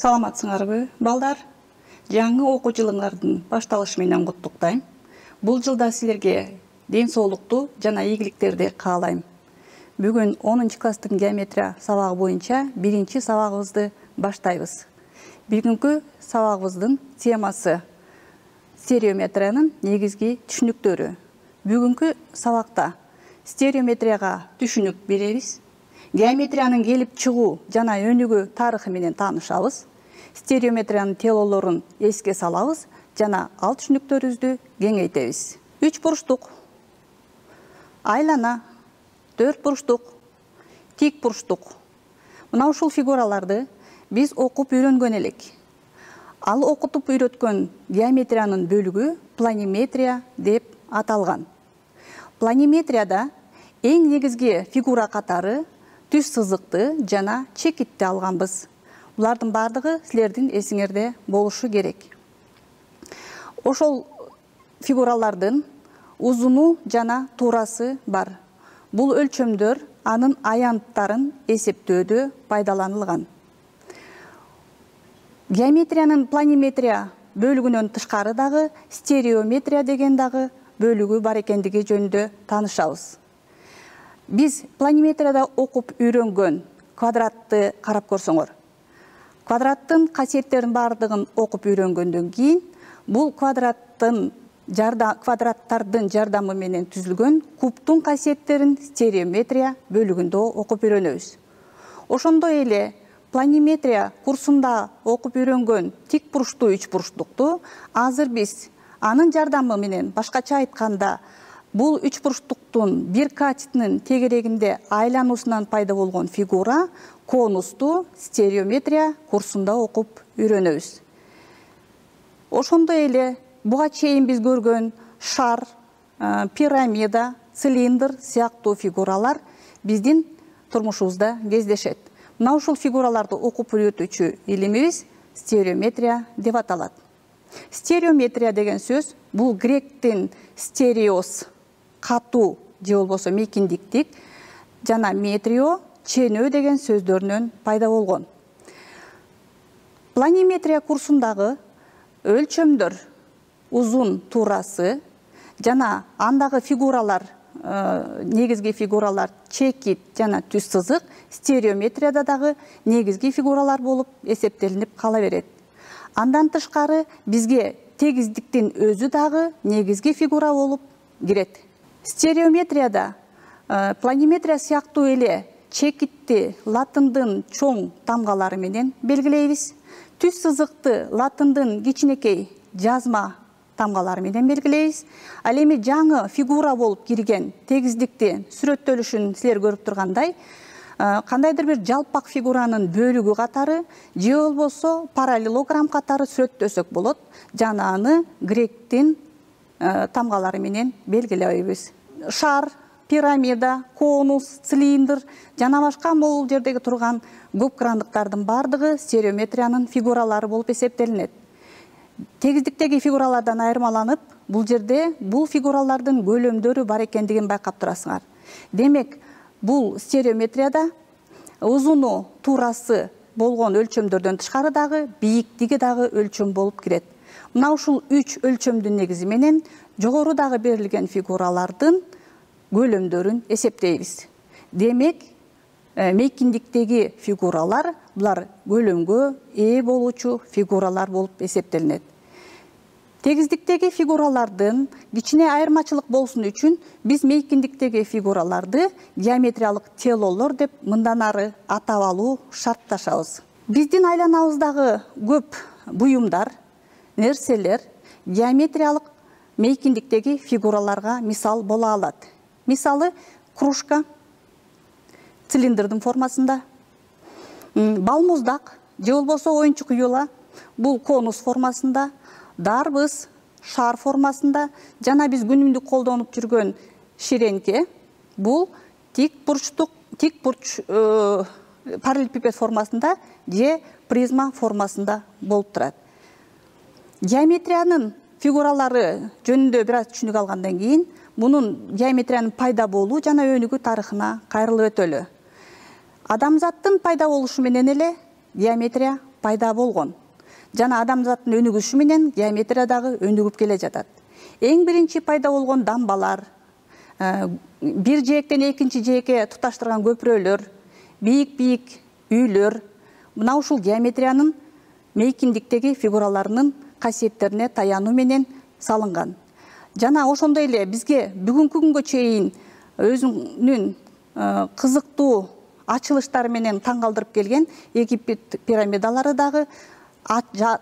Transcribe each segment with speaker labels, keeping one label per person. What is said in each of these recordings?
Speaker 1: Саламатсыңарбы, балдар? Жаңы окуу жылыңардын башталышы менен куттуктайм. Бул жылда силерге ден соолукту жана ийгиликтерди каалайм. Бүгүн 10 класстын геометрия сабагы боюнча биринчи сабагыбызды баштайбыз. Бүгүнкү сабагыбыздын темасы стереометриянын негизги түшүнүктөрү. Бүгүнкү сабакта стереометрияга түшүнүк беребиз. Геометриянын келип чыгуу жана өнүгүү тарыхы менен таанышабыз. Стереометриянын теорияларын эске салабыз жана ал түшүнүктөрүбүздү кеңейтебиз. 3 бурчтук, айлана, 4 бурчтук, тик бурчтук. Мына ушул фигураларды биз окуп үйрөнгөн элек. Ал окутуп үйрөткөн геометриянын бөлүгү планиметрия деп аталган. Планиметрияда эң негизги фигура катары түз сызыкты жана чекитти алганбыз. Булардын бардыгы силердин эсиңерде болушу керек. Ошол фигуралардын узуну жана туурасы бар. Бул өлчөмдөр анын аянттарын эсептөөдө пайдаланылган. Геометриянын планиметрия бөлүгүнөн тышкары дагы стереометрия деген дагы бөлүгү бар экендиги жөнүндө таанышабыз. Биз планиметрияда окуп үйрөнгөн квадратты карап көрсөңөр. Квадраттын касиеттерин бардыгын окуп үйрөнгөндөн кийин бул квадраттардын жардамы менен түзүлгөн кубтун касиеттерин стереометрия бөлүгүндө окуп үйрөнөбүз. Ошондой эле планиметрия курсунда окуп үйрөнгөн тик бурчтуу үч бурчтукту азыр биз анын жардамы менен, башкача айтканда, бул үч бурчтуктун бир катетинин тегерегинде айлануусунан пайда болгон фигура конусту стереометрия курсунда окуп үйрөнөбүз. Ошондой эле буга чейин биз көргөн шар, пирамида, цилиндр сыяктуу фигуралар биздин турмушубузда кездешет. Мына ушул фигураларды окуп үйрөтүүчү илимибиз стереометрия деп аталат. Стереометрия деген сөз бул гректин стереос катуу же болбосо мейкиндиктик жана метрио ченөө деген сөздөрүнөн пайда болгон. Планиметрия курсундагы өлчөмдөр, узун туурасы жана андагы фигуралар, негизги фигуралар чекит жана түз сызык стереометрияда дагы негизги фигуралар болуп эсептелинип кала берет. Андан тышкары бизге тегиздиктин өзү дагы негизги фигура болуп кирет. Стереометрияда планиметрия сыяктуу эле чекитти латындын чоң тамгалары менен белгилейбиз. Түз сызыкты латындын кичинекей жазма тамгалары менен белгилейбиз. Ал эми жаңы фигура болуп кирген тегиздикти сүрөттөлүшүн силер көрүп тургандай, кандайдыр бир жалпак фигуранын бөлүгү катары же болбосо параллелограмм катары сүрөттөсөк болот. Жана аны гректин тамгалары менен белгилейбиз. Шар, пирамида, конус, цилиндр жана башка могул жердеги турган көп крандыктардын бардыгы стереометриянын фигуралары болуп эсептелинет. Тегиздиктеги фигуралардан айырмаланып, бул жерде бул фигуралардын көлөмдөрү бар экендигин байкап турасыңар. Демек, бул стереометрияда узуну, туурасы болгон өлчөмдөрдөн тышкары дагы бийиктиги дагы өлчөм болуп кирет. Мына ушул 3 өлчөмдүн негизи менен жогорудагы берилген фигуралардын көлөмдөрүн эсептейбиз. Демек, мейкиндиктеги фигуралар булар көлөмгө ээ болуучу фигуралар болуп эсептелинет. Тегиздиктеги фигуралардын кичине айырмачылык болсун үчүн биз мейкиндиктеги фигураларды геометриялык телолор деп мындан ары атап алуу шартташабыз. Биздин айланабыздагы көп буюмдар, нерселер геометриялык мейкиндиктеги фигураларга мисал боло алат. Мисалы, кружка цилиндрдин формасында, балмуздак же болбосо оюнчук юла бул конус формасында, дарбыз шар формасында жана биз күнүмдүк колдонуп жүргөн ширеңке бул тик бурч параллелепипед формасында же призма формасында болуп турат. Геометриянын фигуралары жөнүндө бир аз түшүнүк алгандан кийин мунун геометриянын пайда болуу жана өнүгүү тарыхына кайрылып өтөлү. Адамзаттын пайда болушу менен эле геометрия пайда болгон жана адамзаттын өнүгүшү менен геометрия дагы өнүгүп келе жатат. Эң биринчи пайда болгон дамбалар, бир жээктен экинчи жээкке туташтырган көпүрөлөр, бийик үйлөр мына ушул геометриянын мейкиндиктеги фигураларынын касиеттерине таянуу менен салынган. Жана ошондой эле бизге бүгүнкү күнгө чейин өзүнүн кызыктуу ачылыштары менен таң калтырып келген Египет пирамидалары дагы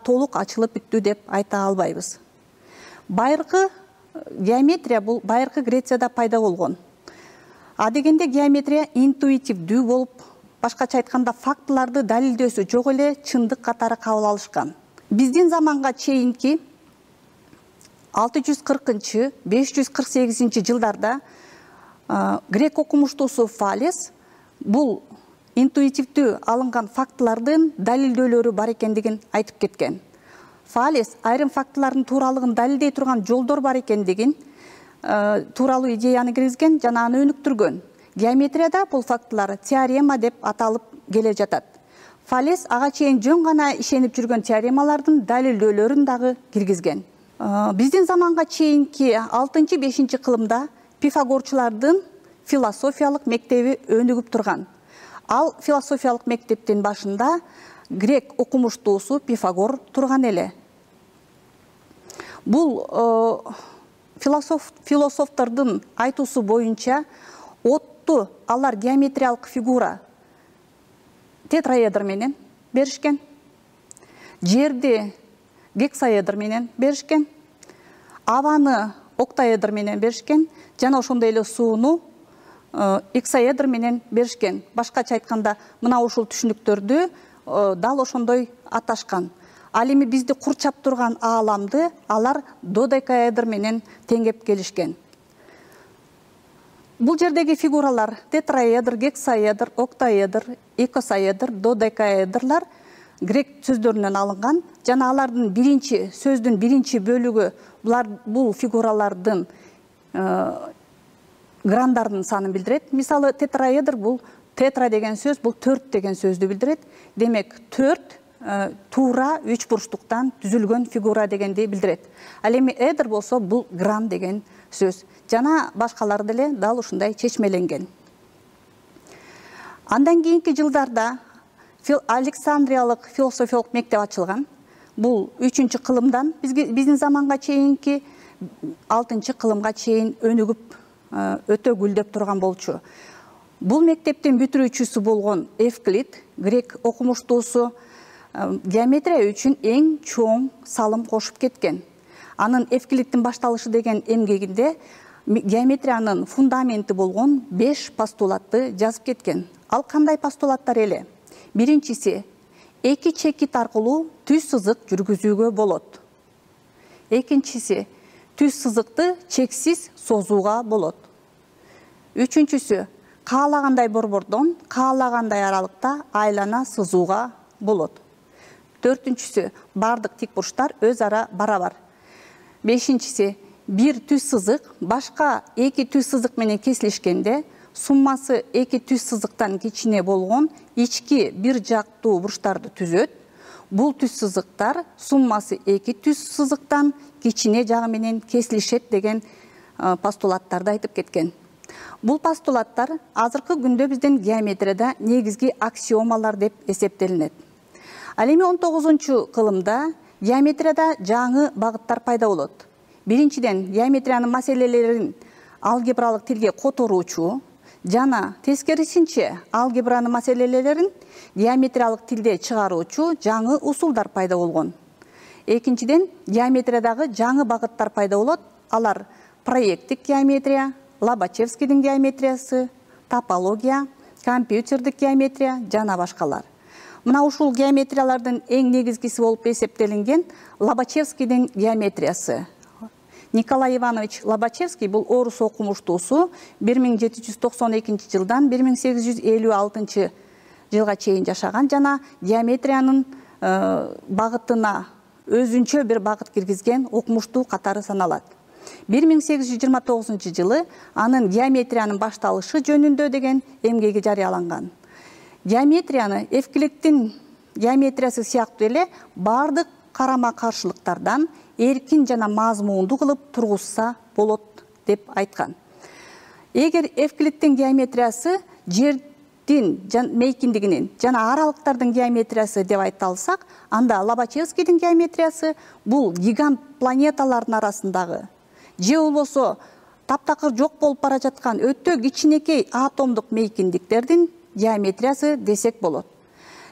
Speaker 1: толук ачылып бүттү деп айта албайбыз. Байыркы геометрия бул байыркы Грецияда пайда болгон. Адегенде геометрия интуитивдүү болуп, башкача айтканда фактыларды далилдөөсү жок эле чындык катары кабыл алышкан. Биздин заманга чейинки 640-548 жылдарда грек окумуштуусу Фалес бул интуитивдүү алынган фактылардын далилдөөлөрү бар экендигин айтып кеткен. Фалес айрым фактылардын тууралыгын далилдей турган жолдор бар экендигин тууралуу идеяны киргизген жана аны өнүктүргөн. Геометрияда бул фактылар теорема деп аталып келе жатат. Фалес ага чейин жөн гана ишенип жүргөн теоремалардын далилдөөлөрүн дагы киргизген. Биздин заманга чейинки 6-5 кылымда Пифагорчулардын философиялык мектеби өнүгүп турган. Ал философиялык мектептин башында грек окумуштуусу Пифагор турган эле. Бул философтордун айтуусу боюнча отту алар геометриялык фигура тетраэдр менен беришкен. Жерди гексаэдр менен беришкен. Абаны октаэдр менен беришкен жана ошондой эле сууну эксаэдр менен беришкен. Башкача айтканда мына ушул түшүнүктөрдү дал ошондой аташкан. Ал эми бизди курчап турган ааламды алар додекаэдр менен теңеп келишкен. Бул жердеги фигуралар тетраэдр, гексаэдр, октаэдр, икосаэдр, додекаэдрлар грек сөздөрүнөн алынган жана алардын сөздүн биринчи бөлүгү бул фигуралардын грандардын санын билдирет. Мисалы тетраэдр бул тетра деген сөз бул 4 деген сөздү билдирет. Демек 4 туура 3 бурчтуктан түзүлгөн фигура дегенди билдирет. Ал эми эдр болсо бул гран деген сөз. Жана башкалар деле дал ушундай чечмеленген. Андан кийинки жылдарда Александриялык философиялык мектеп ачылган. Бул 3-кылымдан биздин заманга чейинки 6-кылымга чейин өнүгүп өтө гүлдөп турган болчу. Бул мектептин бүтүрүүчүсү болгон Евклид, грек окумуштуусу, геометрия үчүн эң чоң салым кошуп кеткен. Анын Евклидтин башталышы деген эмгегинде геометриянын фундаменти болгон 5 постулатты жазып кеткен. Ал кандай постулаттар эле? Биринчиси, эки чекит аркылуу түз сызык жүргүзүүгө болот. Экинчиси, түз сызыкты чексиз созууга болот. Үчүнчүсү, каалагандай борбордон каалагандай аралыкта айлана сызууга болот. Төртүнчүсү, бардык тик бурчтар өз ара барабар. Бешинчиси, бир түз сызык башка эки түз сызык менен кесилишкенде суммасы эки түз сызыктан кичине болгон ички бир жактуу бурчтарды түзөт. Бул түз сызыктар суммасы эки түз сызыктан кичине жагы менен кесилишет деген постулаттарды айтып кеткен. Бул постулаттар азыркы күндө биздин геометрияда негизги аксиомалар деп эсептелинет. Ал эми 19-кылымда геометрияда жаңы багыттар пайда болот. Биринчиден, геометриянын маселелерин алгебралык тилге которуучу жана тескерисинче алгебранын маселелерин геометриялык тилде чыгаруучу жаңы усулдар пайда болгон. Экинчиден, геометриядагы жаңы багыттар пайда болот. Алар проекттик геометрия, Лобачевскийдин геометриясы, топология, компьютердик геометрия жана башкалар. Мына ушул геометриялардын эң негизгиси болуп эсептелинген Лобачевскийдин геометриясы. Николай Иванович Лобачевский бул орус окумуштуусу 1792 жылдан 1856 жылга чейин жашаган жана геометриянын багытына өзүнчө бир багыт киргизген окумуштуу катары саналат. 1829 жылы анын геометриянын башталышы жөнүндө деген эмгеги жарыяланган. Геометрияны Евклидтин геометриясы сыяктуу эле бардык карама каршылыктардан эркин жана мазмундуу кылып тургузса болот деп айткан. Эгер Эвклидтин геометриясы жердин мейкиндигинин жана аралыктардын геометриясы деп айта алсак, анда Лобачевскийдин геометриясы бул гигант планеталардын арасындагы же болбосо таптакыр жок болуп бара жаткан өтө кичинекей атомдук мейкиндиктердин геометриясы десек болот.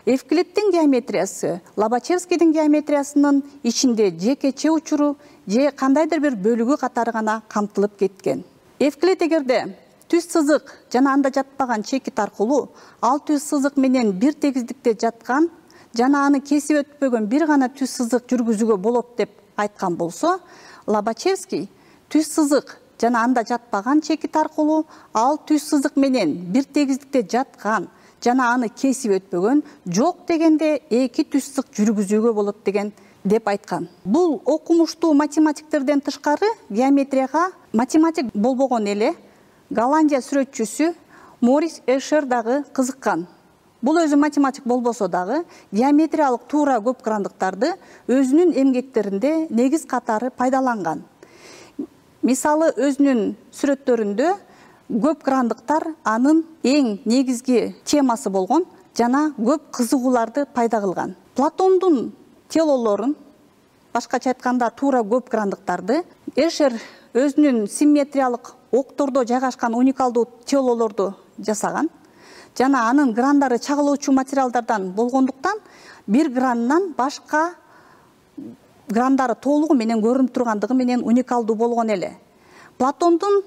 Speaker 1: Эвклидтин геометриясы Лобачевскийдин геометриясынын ичинде жекече учуру же кандайдыр бир бөлүгү катары гана камтылып кеткен. Эвклид эгерде түз сызык жана анда жатпаган чекит аркылуу ал түз сызык менен бир тегиздикте жаткан жана аны кесип өтпөгөн бир гана түз сызык жүргүзүүгө болот деп айткан болсо, Лобачевский түз сызык жана анда жатпаган чекит аркылуу ал түз сызык менен бир тегиздикте жаткан жана аны кесип өтпөгөн жок дегенде эки түз сызык жүргүзүүгө болот деп айткан. Бул окумуштуу математиктерден тышкары геометрияга математик болбогон эле Голландия сүрөтчүсү Морис Эшер дагы кызыккан. Бул өзү математик болбосо дагы геометриялык туура көп грандыктарды өзүнүн эмгектеринде негиз катары пайдаланган. Мисалы, өзүнүн сүрөттөрүндө көп грандыктар анын эң негизги темасы болгон жана көп кызыгууларды пайда кылган. Платондун телолорун, башкача айтканда туура көп грандыктарды Эшер өзүнүн симметриялык октордо жайгашкан уникалдуу телолорду жасаган жана анын грандары чагылуучу материалдардан болгондуктан бир гранынан башка грандары толугу менен көрүнүп тургандыгы менен уникалдуу болгон эле. Платондун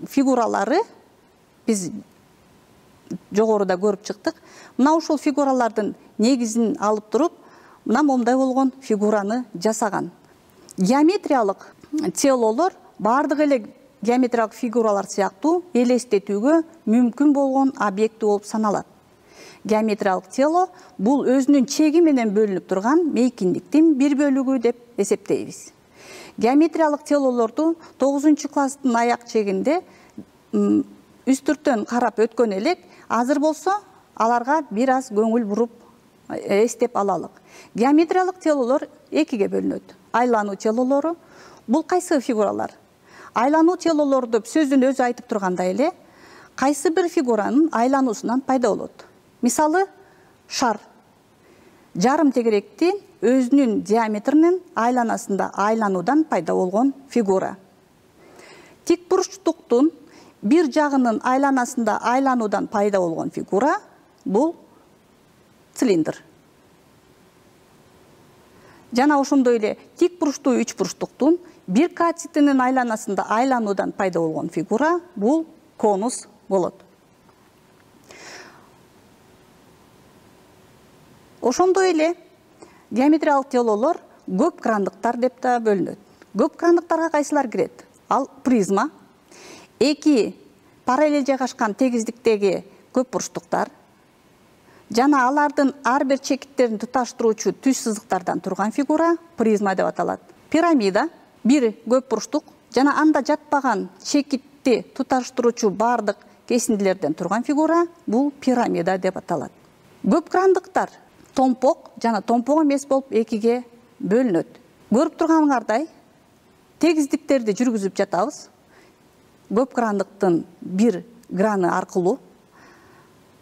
Speaker 1: фигуралары биз жогоруда көрүп чыктык. Мына ушул фигуралардын негизин алып туруп, мына момундай болгон фигураны жасаган. Геометриялык телолор бардык эле геометриялык фигуралар сыяктуу элестетүүгө мүмкүн болгон объекти болуп саналат. Геометриялык тело бул өзүнүн чеги менен бөлүнүп турган мейкиндиктин бир бөлүгү деп эсептейбиз. Геометриялык телолорду 9-класстын аяк чегинде үстүртөн карап өткөн элек, азыр болсо аларга бир аз көңүл буруп эстеп алалык. Геометриялык телолор экиге бөлүнөт. Айлануу телолору бул кайсы фигуралар? Айлануу телолор деп сөздүн өзү айтып тургандай эле, кайсы бир фигуранын айлануусунан пайда болот. Мисалы, шар жарым тегеректин өзүнүн диаметринин айланасында айлануудан пайда болгон фигура. Тик бурчтуктун бир жагынын айланасында айлануудан пайда болгон фигура бул цилиндр. Жана ошондой эле тик бурчтуу үч бурчтуктун бир катетинин айланасында айлануудан пайда болгон фигура бул конус болот. Ошондой эле геометриялык телолор көп грандыктар деп да бөлүнөт. Көп грандыктарга кайсылар кирет? Ал призма, эки параллель жайгашкан тегиздиктеги көп бурчтуктар жана алардын ар бир чекиттерин туташтыруучу түз сызыктардан турган фигура призма деп аталат. Пирамида бир көп бурчтук жана анда жатпаган чекитти туташтыруучу бардык кесиндилерден турган фигура бул пирамида деп аталат. Көп грандыктар томпок жана томпок эмес болуп экиге бөлүнөт. Көрүп турганыңардай тегиздиктерди жүргүзүп жатабыз. Көп грандыктын бир граны аркылуу.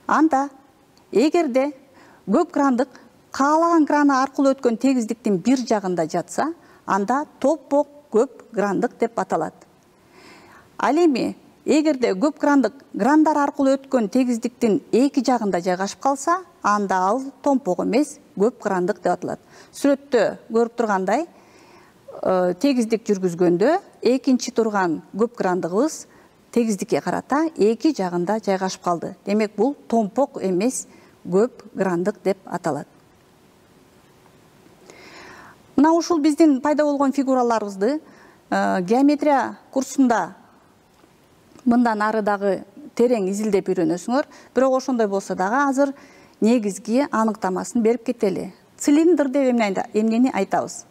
Speaker 1: Анда эгерде көп грандык каалаган граны аркылуу өткөн тегиздиктин бир жагында жатса, анда томпок көп грандык деп аталат. Ал эми эгерде көп грандык грандар аркылуу өткөн тегиздиктин эки жагында жайгашып калса, анда ал томпок эмес, көп грандык деп аталат. Сүрөттө көрүп тургандай, тегиздик жүргүзгөндө экинчи турган көп грандыгыбыз тегиздикке карата эки жагында жайгашып калды. Демек, бул томпок эмес, көп грандык деп аталат. Мына ушул биздин пайда болгон фигураларыбызды геометрия курсунда мындан ары дагы терең изилдеп үйрөнөсүңөр, бирок ошондой болсо дагы азыр негизги аныктамасын берип кетели. Цилиндр деп эмнени айтабыз?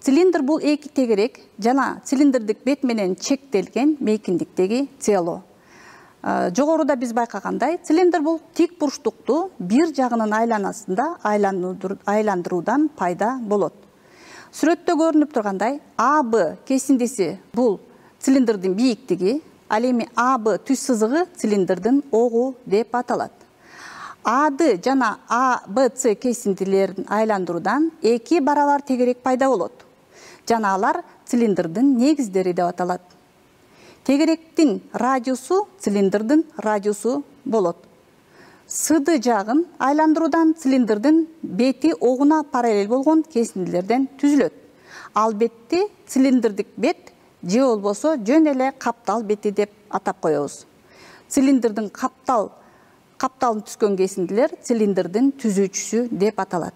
Speaker 1: Цилиндр бул эки тегерек жана цилиндрдик бет менен чектелген мейкиндиктеги тело. Жогоруда биз байкагандай, цилиндр бул тик бурчтукту бир жагынын айланасында айландыруудан пайда болот. Сүрөттө көрүнүп тургандай, АБ кесиндиси бул цилиндрдин бийиктиги, ал эми АБ түз сызыгы цилиндрдин огу деп аталат. АД жана АБЦ кесиндилерин айландыруудан 2 барабар тегерек пайда болот. Жана алар цилиндрдин негиздери деп аталат. Тегеректин радиусу цилиндрдин радиусу болот. Сыды жагын айландыруудан цилиндрдин бети огуна параллель болгон кесиндилерден түзүлөт. Ал бетти цилиндрдик бет же болбосо жөн эле каптал бети деп атап коебуз. Цилиндрдин капталын түзгөн кесиндилер цилиндрдин түзүүчүсү деп аталат.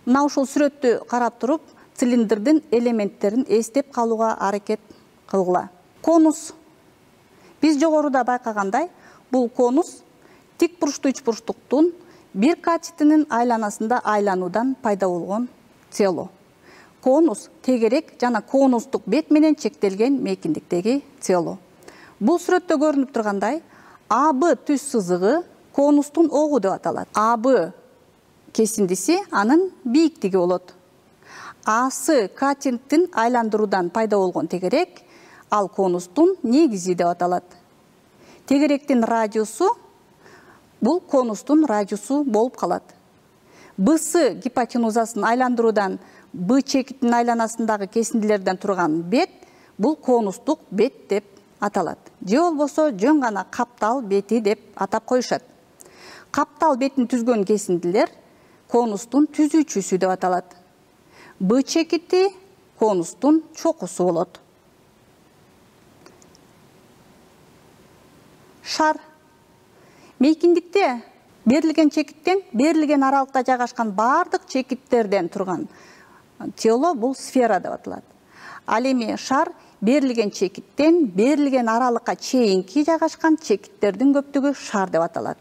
Speaker 1: Мына ушул сүрөттү карап туруп, цилиндрдин элементтерин эстеп калууга аракет кылгыла. Конус. Биз жогоруда байкагандай, бул конус тик бурчтуу үч бурчтуктун бир катетинин айланасында айлануудан пайда болгон цело. Конус тегерек жана конустук бет менен чектелген мейкиндиктеги цело. Бул сүрөттө көрүнүп тургандай, АБ түз сызыгы конустун огу деп аталат. АБ кесиндиси анын бийиктиги болот. АС катеттин айландыруудан пайда болгон тегерек, ал конустун негизи деп аталат. Тегеректин радиусу бул конустун радиусу болуп калат. БС гипотенузасын айландыруудан Б чекитин айланасындагы кесиндилерден турган бет бул конустук бет деп аталат. Же болбосо жөн гана каптал бети деп атап коюшат. Каптал бетин түзгөн кесиндилер конустун түзүүчүсү деп аталат. Б чекити конустун чокусу болот. Шар. Мейкиндикте берилген чекиттен берилген аралыкта жайгашкан бардык чекиттерден турган тело бул сфера деп аталат. Ал эми шар берилген чекиттен берилген аралыкка чейинки жайгашкан чекиттердин көптүгү шар деп аталат.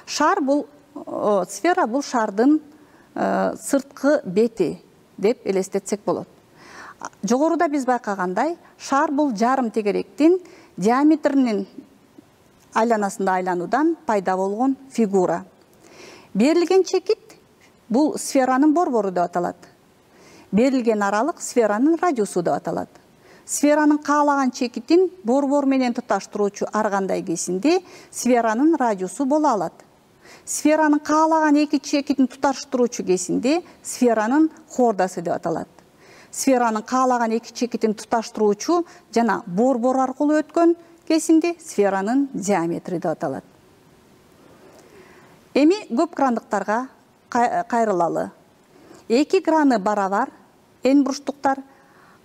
Speaker 1: Шар бул сфера бул шардын сырткы бети деп элестетсек болот. Жогоруда биз байкагандай, шар бул жарым тегеректин диаметринин айланасында айлануудан пайда болгон фигура. Берилген чекит бул сферанын борбору деп аталат. Берилген аралык сферанын радиусу деп аталат. Сферанын каалаган чекитин борбор менен туташтыруучу ар кандай кесинди сферанын радиусу боло алат. Сферанын каалаган эки чекитин туташтыруучу кесинди сферанын хордасы деп аталат. Сферанын каалаган эки чекитин туташтыруучу жана борбор аркылуу өткөн кесинди сферанын диаметри деп аталат. Эми көп крандыктарга кайрылалы. Эки граны барабар эн бурчтуктар,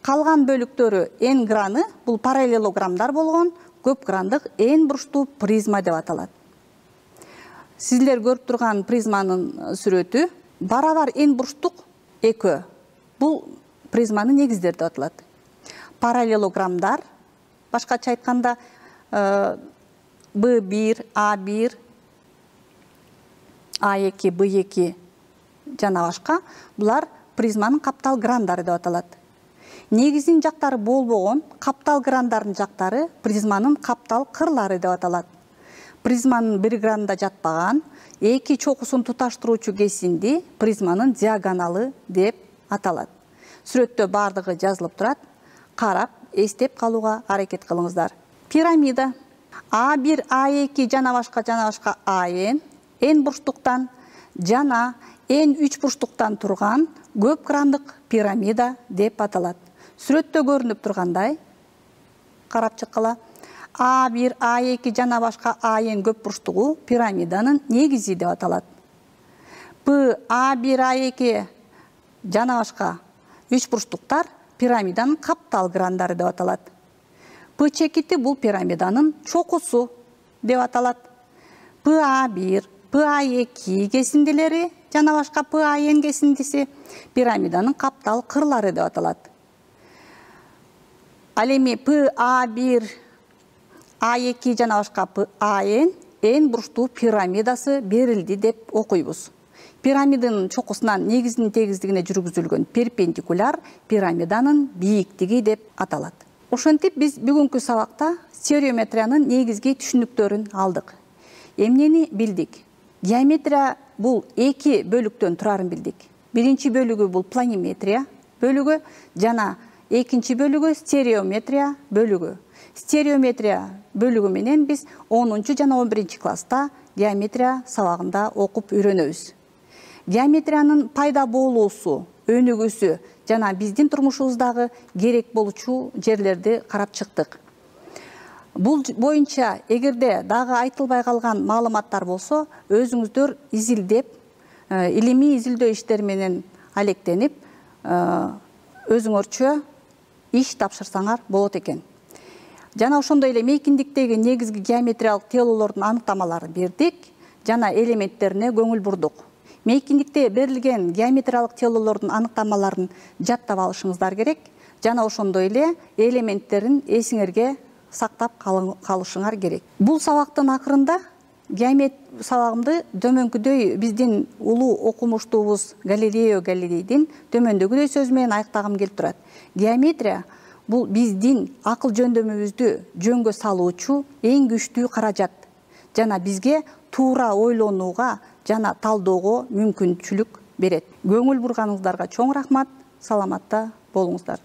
Speaker 1: калган бөлүктөрү эн граны бул параллелограммдар болгон көп грандык эн бурчтуу призма деп аталат. Сиздер көрүп турган призманын сүрөтү барабар эн бурчтук экөө. Бул призманын негиздери деп аталат. Параллелограммдар, башкача айтканда B1, A1, A2, B2 жана башка, булар призманын каптал грандары деп аталат. Негизин жактары болбогон каптал грандардын жактары призманын каптал кырлары деп аталат. Призманын бир гранда жатпаган эки чокусун туташтыруучу кесинди призманын диагоналы деп аталат. Сүрөттө бардыгы жазылып турат. Карап, эстеп калууга аракет кылыңыздар. Пирамида. A1, A2 жана башка эн бурчтуктан жана эн үч бурчтуктан турган көп грандык пирамида деп аталат. Сүрөттө көрүнүп тургандай, карап чыккыла. A1, A2 жана башка эн көп бурчтугу пирамиданын негизи деп аталат. A1, A2 жана башка үч бурчтуктар пирамиданын каптал грандары деп аталат. П чекити бул пирамиданын чокусу деп аталат. PA1, PA2 кесиндилери жана башка PAN кесиндиси пирамиданын каптал кырлары деп аталат. Ал эми PA1, A2 жана башка PAN эн бурчтуу пирамидасы берилди деп окуйбуз. Пирамиданын чокусунан негизинин тегиздигине жүргүзүлгөн перпендикуляр пирамиданын бийиктиги деп аталат. Ошентип биз бүгүнкү сабакта стереометриянын негизги түшүнүктөрүн алдык. Эмнени билдик? Геометрия бул эки бөлүктөн турарын билдик. Биринчи бөлүгү бул планиметрия бөлүгү жана экинчи бөлүгү стереометрия бөлүгү. Стереометрия бөлүгү менен биз 10 жана 11 класста геометрия сабагында окуп үйрөнөбүз. Геометриянын пайда болуусу, өнүгүүсү жана биздин турмушубуздагы керек болчу жерлерди карап чыктык. Бул боюнча эгерде дагы айтылбай калган маалыматтар болсо, өзүңүздөр изилдеп, илимий изилдөө иштери менен алектенип, өзүңөрчө иш тапшырсаңар болот экен. Жана ошондой эле мейкиндиктеги негизги геометриялык телолордун аныктамаларын бердик жана элементтерине көңүл бурдук. Мейкиндикте берилген геометриялык телолордун аныктамаларын жаттап алышыңыздар керек жана ошондой эле элементтерин эсиңерге сактап калышыңар керек. Бул сабактын акырында геометрия сабагымды төмөнкүдөй биздин улуу окумуштуубуз Галилео Галилейдин төмөндөгүдөй сөзү менен аяктагым келип турат. Геометрия бул биздин акыл жөндөмүбүздү жөнгө салуучу эң күчтүү каражат жана бизге туура ойлонууга жана талдоого мүмкүнчүлүк берет. Көңүл бурганыңыздарга чоң рахмат, саламатта болуңуздар.